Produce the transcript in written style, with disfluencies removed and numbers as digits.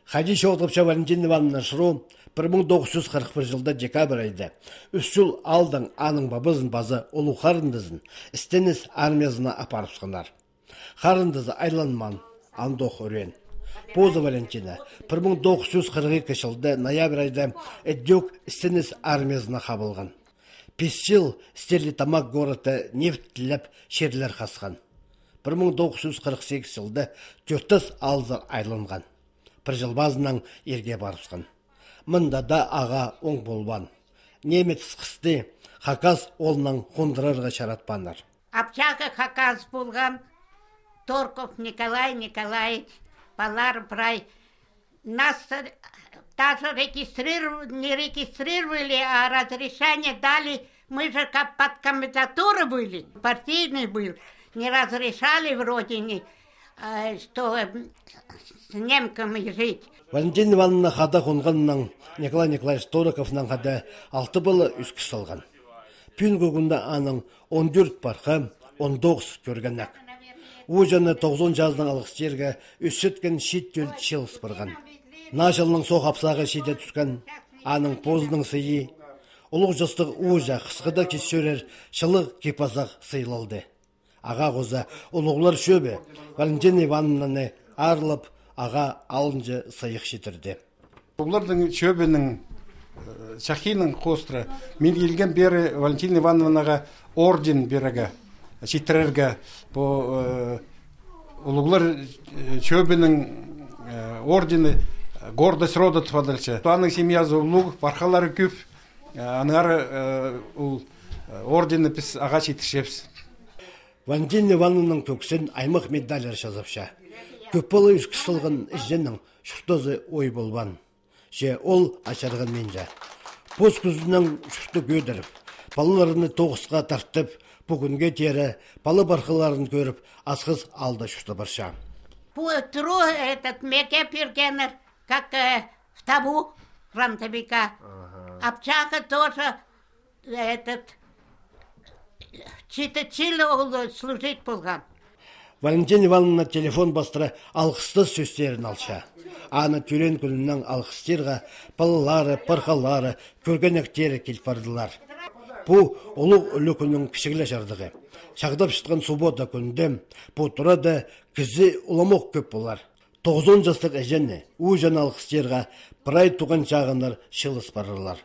Хади Шоутовча Валентин Ивановна Шру 1941 жылда декабрь айда 3 жыл алдың аның бабызын базы олу қарындызын істенес армиясына апарып сықынар. Қарындызы айланман, андоқ өрен. Поза Валентина 1942 жылда ноябрь айда әддек істенес армиясына қабылған. 5 жыл Стерлитамак города нефт тіліп шерлер қасқан. 1948 жылда 4 алзыр айланған. Бір жыл базынан ерге барысқан. Мында да аға оң болбан. Немец қысты, хакас олынан қондырарға шаратпанар. Апчака хакас болған, Торков Николай Николаевич, Палар Прай. Нас даже не регистрировали, а разрешение дали. Мы же как под кандидатурой были, партийный был. Не разрешали вроде что с немками жить. Валентин Ивановна хада қонғаннан Николай Николаевич Тороковнан хада 6 былы үскі салған. Пүн көгінде аның 14 барқа, 19 көргеннәк. Ужаны 90 жаздың алғыстерге үсіткен шет жөл шеліс бұрған. Нашылының соқ апсағы шеде түскен аның позының сыйы. Ұлық жастық ужа қысқыда кесерер шылық кепазақ сыйлалды. Аға қоза ұлығылар шөбе Валентин Ивановнаны арылып, аға алынжы сайық шетірді. Олардың шөбенің шахинның қостыры мен келген бері Валентин Ивановнаға орден береге, шетірерге. Олығылар шөбенің ордені гордость рода тұпадылшы. Туаның семьязы ұлық, барқалары көп, анығары ордені біз аға шетіршепсі. Валентин Ивановның көксін аймақ медалер жазапша. Көппалы үш кісілген ішженнің шұртозы ой болбан. Же ол ашарған менжа. Поз күзінің шұрты көдіріп, балыларыны тоғысқа тартып, бүгінге тері, балы барқыларын көріп, асқыз алды шұрты барша. Тру этот меке пергенер, как в табу фронтовика. Обчака тоже этот... Чилі служить болған. Валентин Ивановна телефон бастыра алғысты сөстерін алша. Аны түрен күнінің алғыстерға балалары, парқалары, көргенектері келіп бардылар. Бұл ұлық үлі күнінің кішігілі жардығы. Шағдап шытқан суббота күнді, бұл тұрады кізі ұламық көп болар. 90 жастық әжені, ұжан алғыстерға бір ай туған жағынар шылыс барылар.